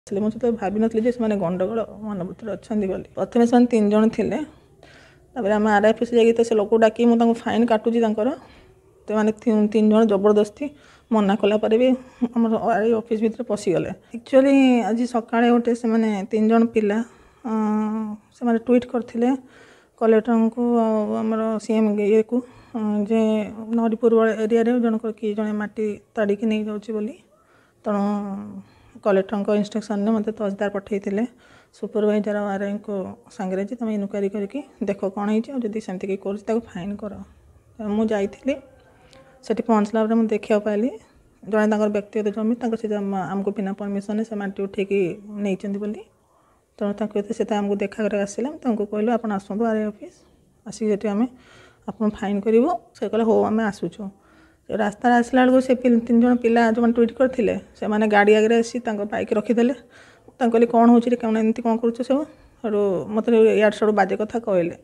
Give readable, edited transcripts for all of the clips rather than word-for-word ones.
ମୁଁ ସେତେବେଳେ ଭାବିନଥିଲି ଯେ ସେମାନେ ଗଣ୍ଡଗୋଳ ମନୋବୃତ୍ତିରେ ଅଛନ୍ତି ବୋଲି। ପ୍ରଥମେ ସେମାନେ 3 ଜଣ ଥିଲେ। ତାପରେ ଆମେ ଆର୍ I office ଯାଇକି ତ ସେ ଲୋକକୁ ଡାକି ମୁଁ ତାଙ୍କୁ ଫାଇନ୍ କାଟୁଛି ତାଙ୍କର। ସେମାନେ 3 ଜଣ ଜବରଦସ୍ତି ମନା କଲା ପରେ ବି ଆମର ଆର୍ I office ଭିତରେ ପଶିଗଲେ। ଆକ୍ଚୁଆଲି ଆଜି ସକାଳେ ଗୋଟେ ସେମାନେ 3 ଜଣ ପିଲା ସେମାନେ ଟ୍ୱିଟ୍ କରିଥିଲେ କଲେକ୍ଟରଙ୍କୁ ଆଉ ଆମର ସି ଏମ୍ ଇଏକୁ ଯେ ନରିପୁର ଏରିଆରେ ଜଣଙ୍କର କିଏ ଜଣେ ମାଟି ତାଡ଼ିକି ନେଇଯାଉଛି ବୋଲି। ତେଣୁ କଲେକ୍ଟରଙ୍କ ଇନଷ୍ଟ୍ରକ୍ସନ୍ରେ ମୋତେ ତହସିଲଦାର ପଠାଇଥିଲେ ସୁପରଭାଇଜର ଆର୍ ଆଇଙ୍କ ସାଙ୍ଗରେ ଯେ ତୁମେ ଇନକ୍ୱାରି କରିକି ଦେଖ କ'ଣ ହେଇଛି, ଆଉ ଯଦି ସେମିତି କେହି କରୁଛି ତାକୁ ଫାଇନ୍ କର। ମୁଁ ଯାଇଥିଲି, ସେଠି ପହଞ୍ଚିଲା ପରେ ମୁଁ ଦେଖିବାକୁ ପାଇଲି ଜଣେ ତାଙ୍କର ବ୍ୟକ୍ତିଗତ ଜମି ତାଙ୍କ ସେ ଆମକୁ ବିନା ପରମିସନ୍ରେ ସେ ମାଟି ଉଠେଇକି ନେଇଛନ୍ତି ବୋଲି। ତେଣୁ ତାଙ୍କୁ ଏତେ ସେ ତ ଆମକୁ ଦେଖା କରିବାକୁ ଆସିଲେ। ଆମେ ତାଙ୍କୁ କହିଲୁ ଆପଣ ଆସନ୍ତୁ ଆର୍ I office, ଆସିକି ସେଠି ଆମେ ଆପଣ ଫାଇନ୍ କରିବୁ। ସେ କହିଲେ ହଉ ଆମେ ଆସୁଛୁ। ରାସ୍ତାରେ ଆସିଲା ବେଳକୁ ସେ 3 ଜଣ ପିଲା ଯେଉଁମାନେ ଟ୍ୱିଟ୍ କରିଥିଲେ ସେମାନେ ଗାଡ଼ି ଆଗରେ ଆସି ତାଙ୍କ ବାଇକ୍ ରଖିଦେଲେ। ତାଙ୍କୁ କହିଲି କ'ଣ ହେଉଛି, କ'ଣ ଏମିତି କ'ଣ କରୁଛ ସବୁ। ସେଠୁ ମୋତେ ଇଆଡ଼ୁ ସିଆଡ଼ୁ ବାଜେ କଥା କହିଲେ।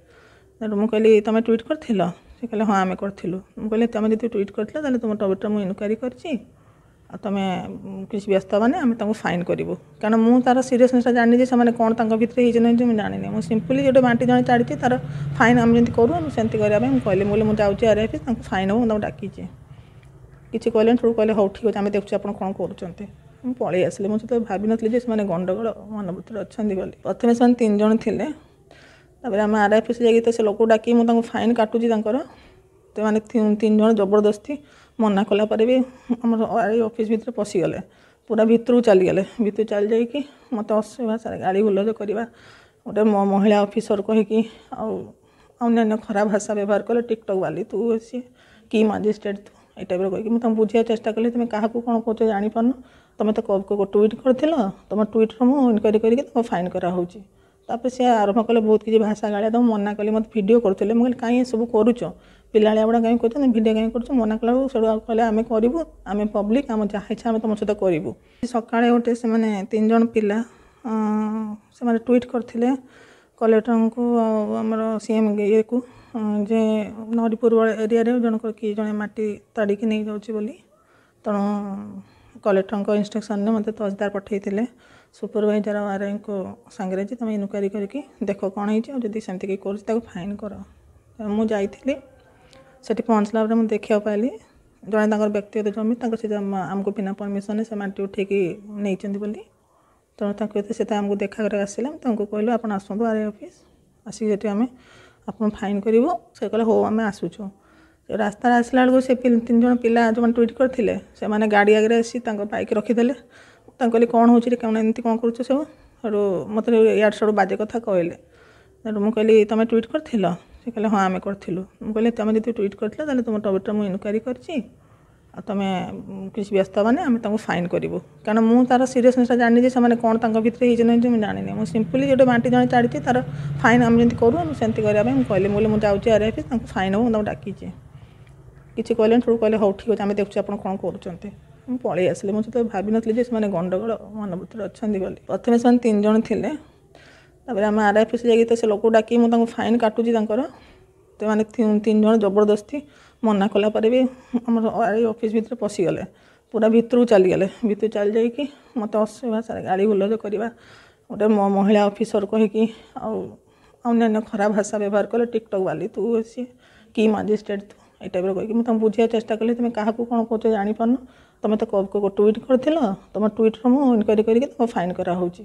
ସେଠୁ ମୁଁ କହିଲି ତୁମେ ଟ୍ୱିଟ୍ କରିଥିଲ? ସେ କହିଲେ ହଁ ଆମେ କରିଥିଲୁ। ମୁଁ କହିଲି ତୁମେ ଯଦି ଟ୍ୱିଟ୍ କରିଥିଲ ତାହେଲେ ତୁମ ଟ୍ୱିଟ୍ର ମୁଁ ଇନକ୍ୱାରି କରିଛି, ଆଉ ତୁମେ କିଛି ବ୍ୟସ୍ତ ହେବନି, ଆମେ ତାଙ୍କୁ ଫାଇନ୍ କରିବୁ। କାରଣ ମୁଁ ତା'ର ସିରିୟସନେସ୍ଟା ଜାଣିନି ଯେ ସେମାନେ କ'ଣ ତାଙ୍କ ଭିତରେ ହେଇଛି ନ ହେଇଛି ମୁଁ ଜାଣିନି। ମୁଁ ସିମ୍ପଲି ଗୋଟେ ମାଟି ଜଣେ ତାଡ଼ିଛି ତା'ର ଫାଇନ୍ ଆମେ ଯେମିତି କରୁ ଆମେ ସେମିତି କରିବା ପାଇଁ ମୁଁ କହିଲି। ମୁଁ କହିଲି ମୁଁ ଯାଉଛି ଆର୍ I office, ତାଙ୍କୁ ଫାଇନ୍ ହେବ, ମୁଁ ତାଙ୍କୁ ଡାକିଛି। କିଛି କହିଲେନି, ସେଠୁ କହିଲେ ହଉ ଠିକ୍ ଅଛି ଆମେ ଦେଖୁଛୁ ଆପଣ କ'ଣ କରୁଛନ୍ତି। ମୁଁ ପଳେଇ ଆସିଲି। ମୁଁ ସେତେବେଳେ ଭାବିନଥିଲି ଯେ ସେମାନେ ଗଣ୍ଡଗୋଳ ମନୋବୃତ୍ତିରେ ଅଛନ୍ତି ବୋଲି। ପ୍ରଥମେ ସେମାନେ 3 ଜଣ ଥିଲେ। ତାପରେ ଆମେ ଆର୍ I office ଯାଇକି ତ ସେ ଲୋକକୁ ଡାକି ମୁଁ ତାଙ୍କୁ ଫାଇନ୍ କାଟୁଛି ତାଙ୍କର। ସେମାନେ 3 ଜଣ ଜବରଦସ୍ତି ମନା କଲା ପରେ ବି ଆମର ଆର୍ I office ଭିତରେ ପଶିଗଲେ, ପୁରା ଭିତରକୁ ଚାଲିଗଲେ। ଭିତରକୁ ଚାଲି ଯାଇକି ମୋତେ ଅସଭ୍ୟ ଭାଷାରେ ଗାଳି ଗୁଲଜ କରିବା, ଗୋଟେ ମହିଳା ଅଫିସର କହିକି ଆଉ ଅନ୍ୟାନ୍ୟ ଖରାପ ଭାଷା ବ୍ୟବହାର କଲେ। ଟିକଟକ୍ ବାଲି ତୁ, ସିଏ କି ମାଜିଷ୍ଟ୍ରେଟ୍ ତୁ, ଏଇ ଟାଇପ୍ର କହିକି ମୁଁ ତାଙ୍କୁ ବୁଝେଇବାକୁ ଚେଷ୍ଟା କଲି ତୁମେ କାହାକୁ କ'ଣ କହୁଛ ଜାଣିପାରୁନ, ତୁମେ ତ ଟ୍ୱିଟ୍ କରିଥିଲ, ତୁମ ଟ୍ୱିଟ୍ର ମୁଁ ଇନକ୍ୱାରି କରିକି ତୁମ ଫାଇନ୍ କରାହେଉଛି। ତାପରେ ସେ ଆରମ୍ଭ କଲେ ବହୁତ କିଛି ଭାଷା ଗାଳିଆ। ତାଙ୍କୁ ମନା କଲି, ମୋତେ ଭିଡ଼ିଓ କରୁଥିଲେ। ମୁଁ କହିଲି କାହିଁ ଏସବୁ କରୁଛ, ପିଲାଳିଆ ଗୁଡ଼ା କାହିଁ କରୁଛ, ଭିଡ଼ିଓ କାହିଁ କରୁଛ? ମନା କଲାବେଳକୁ ସେଠୁ ଆଉ କହିଲେ ଆମେ କରିବୁ, ଆମେ ପବ୍ଲିକ୍, ଆମ ଯାହା ଇଚ୍ଛା ଆମେ ତୁମ ସହିତ କରିବୁ। ସକାଳେ ଗୋଟେ ସେମାନେ 3 ଜଣ ପିଲା ସେମାନେ ଟ୍ୱିଟ୍ କରିଥିଲେ କଲେକ୍ଟରଙ୍କୁ ଆଉ ଆମର ସି ଏମ୍ ଇଏକୁ ଯେ ନରିପୁର ଏରିଆରେ ଜଣଙ୍କର କିଏ ଜଣେ ମାଟି ତାଡ଼ିକି ନେଇଯାଉଛି ବୋଲି। ତେଣୁ କଲେକ୍ଟରଙ୍କ ଇନଷ୍ଟ୍ରକ୍ସନ୍ରେ ମୋତେ ତହସିଲଦାର ପଠାଇଥିଲେ ସୁପରଭାଇଜର ଆର୍ ଆଇଙ୍କ ସାଙ୍ଗରେ ଯେ ତୁମେ ଇନକ୍ୱାରି କରିକି ଦେଖ କ'ଣ ହେଇଛି, ଆଉ ଯଦି ସେମିତି କେହି କରୁଛି ତାକୁ ଫାଇନ୍ କର। ମୁଁ ଯାଇଥିଲି, ସେଠି ପହଞ୍ଚିଲା ପରେ ମୁଁ ଦେଖିବାକୁ ପାଇଲି ଜଣେ ତାଙ୍କର ବ୍ୟକ୍ତିଗତ ଜମି ତାଙ୍କ ସେ ଆମକୁ ବିନା ପରମିସନ୍ରେ ସେ ମାଟି ଉଠେଇକି ନେଇଛନ୍ତି ବୋଲି। ତେଣୁ ତାଙ୍କୁ ଏତେ ସେ ତ ଆମକୁ ଦେଖା କରିବାକୁ ଆସିଲେ। ଆମେ ତାଙ୍କୁ କହିଲୁ ଆପଣ ଆସନ୍ତୁ ଆର୍ I office, ଆସିକି ସେଠି ଆମେ ଆପଣ ଫାଇନ୍ କରିବୁ। ସେ କହିଲେ ହଉ ଆମେ ଆସୁଛୁ। ରାସ୍ତାରେ ଆସିଲା ବେଳକୁ ସେ 3 ଜଣ ପିଲା ଯେଉଁମାନେ ଟ୍ୱିଟ୍ କରିଥିଲେ ସେମାନେ ଗାଡ଼ି ଆଗରେ ଆସି ତାଙ୍କ ବାଇକ୍ ରଖିଦେଲେ। ତାଙ୍କୁ କହିଲି କ'ଣ ହେଉଛି, କ'ଣ ଏମିତି କ'ଣ କରୁଛ ସବୁ। ସେଠୁ ମୋତେ ଇଆଡ଼ୁ ସିଆଡ଼ୁ ବାଜେ କଥା କହିଲେ। ସେଠୁ ମୁଁ କହିଲି ତୁମେ ଟ୍ୱିଟ୍ କରିଥିଲ? ସେ କହିଲେ ହଁ ଆମେ କରିଥିଲୁ। ମୁଁ କହିଲି ତୁମେ ଯଦି ଟ୍ୱିଟ୍ କରିଥିଲ ତାହେଲେ ତୁମ ଟ୍ୱିଟ୍ର ମୁଁ ଇନକ୍ୱାରି କରିଛି, ଆଉ ତୁମେ କିଛି ବ୍ୟସ୍ତ ହେବନି, ଆମେ ତାଙ୍କୁ ଫାଇନ୍ କରିବୁ। କାରଣ ମୁଁ ତା'ର ସିରିୟସନେସ୍ଟା ଜାଣିନି ଯେ ସେମାନେ କ'ଣ ତାଙ୍କ ଭିତରେ ହେଇଛି ନ ହେଇଛି ମୁଁ ଜାଣିନି। ମୁଁ ସିମ୍ପଲି ଗୋଟେ ମାଟି ଜଣେ ତାଡ଼ିଛି ତା'ର ଫାଇନ୍ ଆମେ ଯେମିତି କରୁ ଆମେ ସେମିତି କରିବା ପାଇଁ ମୁଁ କହିଲି। ମୁଁ କହିଲି ମୁଁ ଯାଉଛି ଆର୍ I office, ତାଙ୍କୁ ଫାଇନ୍ ହେବ, ମୁଁ ତାଙ୍କୁ ଡାକିଛି। କିଛି କହିଲେନି, ସେଠୁ କହିଲେ ହଉ ଠିକ୍ ଅଛି ଆମେ ଦେଖୁଛୁ ଆପଣ କ'ଣ କରୁଛନ୍ତି। ମୁଁ ପଳେଇ ଆସିଲି। ମୁଁ ସେତେବେଳେ ଭାବିନଥିଲି ଯେ ସେମାନେ ଗଣ୍ଡଗୋଳ ମନୋବୃତ୍ତିରେ ଅଛନ୍ତି ବୋଲି। ପ୍ରଥମେ ସେମାନେ 3 ଜଣ ଥିଲେ। ତାପରେ ଆମେ ଆର୍ I office ଯାଇକି ତ ସେ ଲୋକକୁ ଡାକି ମୁଁ ତାଙ୍କୁ ଫାଇନ୍ କାଟୁଛି ତାଙ୍କର। ସେମାନେ 3 ଜଣ ଜବରଦସ୍ତି ମନା କଲା ପରେ ବି ଆମର ଆର୍ I office ଭିତରେ ପଶିଗଲେ, ପୁରା ଭିତରକୁ ଚାଲିଗଲେ। ଭିତରକୁ ଚାଲି ଯାଇକି ମୋତେ ଅସଭ୍ୟ ଭାଷାରେ ଗାଳି ଗୁଲଜ କରିବା, ଗୋଟେ ମହିଳା ଅଫିସର କହିକି ଆଉ ଅନ୍ୟାନ୍ୟ ଖରାପ ଭାଷା ବ୍ୟବହାର କଲେ। ଟିକଟକ୍ ବାଲି ତୁ, ସିଏ କି ମାଜିଷ୍ଟ୍ରେଟ୍ ତୁ, ଏଇ ଟାଇପ୍ର କହିକି ମୁଁ ତାଙ୍କୁ ବୁଝେଇବାକୁ ଚେଷ୍ଟା କଲି ତୁମେ କାହାକୁ କ'ଣ କହୁଛ ଜାଣିପାରୁନ, ତୁମେ ତ ଟ୍ୱିଟ୍ କରିଥିଲ, ତୁମ ଟ୍ୱିଟ୍ର ମୁଁ ଇନକ୍ୱାରି କରିକି ତୁମ ଫାଇନ୍ କରାହେଉଛି।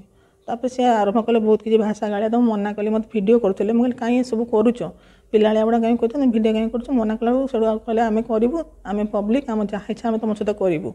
ତାପରେ ସେ ଆରମ୍ଭ କଲେ ବହୁତ କିଛି ଭାଷା ଗାଳିଆ। ତାଙ୍କୁ ମନା କଲି, ମୋତେ ଭିଡ଼ିଓ କରୁଥିଲେ। ମୁଁ କହିଲି କାହିଁ ଏସବୁ କରୁଛ, ପିଲାଳିଆ ଗୁଡ଼ା କାହିଁ କରୁଛ, ଭିଡ଼ିଓ କାହିଁ କରୁଛ? ମନା କଲାବେଳକୁ ସେଠୁ ଆଉ କହିଲେ ଆମେ କରିବୁ, ଆମେ ପବ୍ଲିକ୍, ଆମ ଯାହା ଇଚ୍ଛା ଆମେ ତୁମ ସହିତ କରିବୁ।